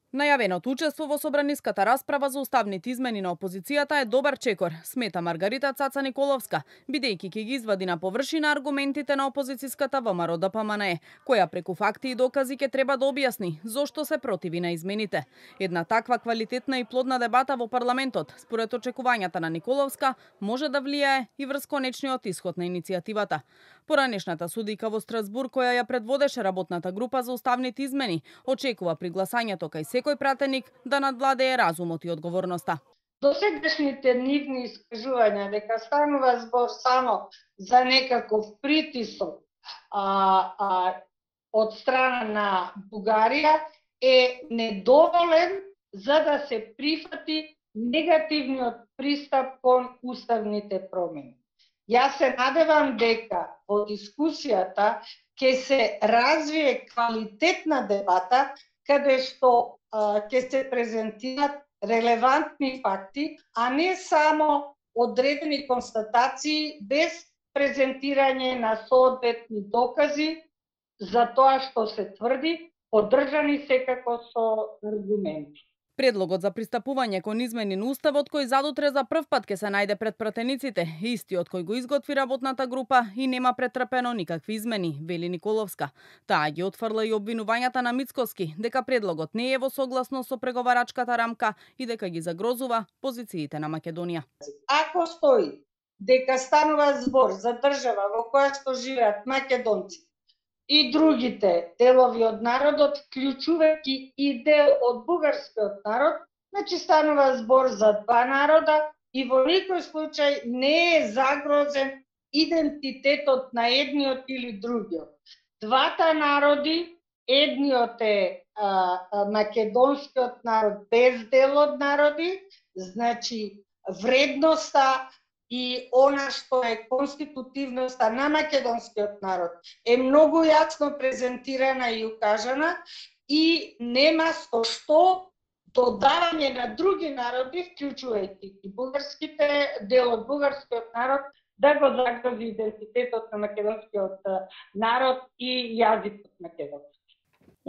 Најавеното учество во собраниската расправа за уставните измени на опозицијата е добар чекор, смета Маргарита Цаца Николовска, бидејќи ќе ги извади на површина аргументите на опозицијската ВМРО-ДПМНЕ, која преку факти и докази ќе треба да објасни зошто се противи на измените. Една таква квалитетна и плодна дебата во парламентот, според очекувањата на Николовска, може да влијае и врз конечниот исход на иницијативата. Поранешната судика во Страсбург, која ја предводеше работната група за уставните измени, очекува при гласањето кај секој пратеник да надвладее разумот и одговорноста. Досегашните нивни искажувања дека станува збор само за некаков притисок од страна на Бугарија е недоволен за да се прифати негативниот пристап кон уставните промени. Јас се надевам дека во дискусијата ќе се развие квалитетна дебата каде што ќе се презентираат релевантни факти, а не само одредени констатации без презентирање на соодветни докази за тоа што се тврди, поддржани секако со аргументи. Предлогот за пристапување кон измени на уставот кој задутре за прв пат ќе се најде пред пратениците, истиот кој го изготви работната група и нема претрпено никакви измени, вели Николовска. Таа ги отфрла и обвинувањата на Мицкоски дека предлогот не е во согласност со преговарачката рамка и дека ги загрозува позициите на Македонија. Ако стои дека станува збор за држава во која што живеат македонци и другите делови од народот, вклучувајќи и дел од бугарскиот народ, значи станува збор за два народа и во никој случај не е загрозен идентитетот на едниот или другиот. Двата народи, едниот е македонскиот народ без дел од народи, значи вредноста и она што е конститутивноста на македонскиот народ е многу јасно презентирана и укажана и нема со што додавање на други народи, вклучувајќи и бугарските дел од бугарскиот народ, да го загрози идентитетот на македонскиот народ и јазикот македонски.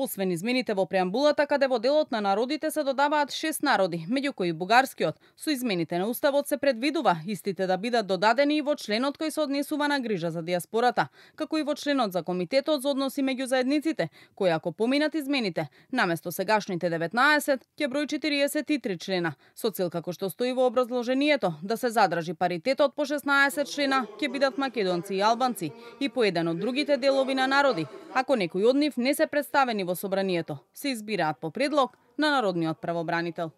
Освен измените во преамбулата, каде во делот на народите се додаваат 6 народи, меѓу кои бугарскиот, со измените на уставот се предвидува истите да бидат додадени и во членот кој се однесува на грижа за диаспората, како и во членот за комитетот за односи меѓу заедниците, кој ако поминат измените, наместо сегашните 19, ќе брои 43 члена, со цел како што стои во образложението, да се задржи паритетот по 16 члена ќе бидат македонци и албанци и по еден од другите делови на народи, ако некој од нив не се представени во собранието, се избираат по предлог на народниот правобранител.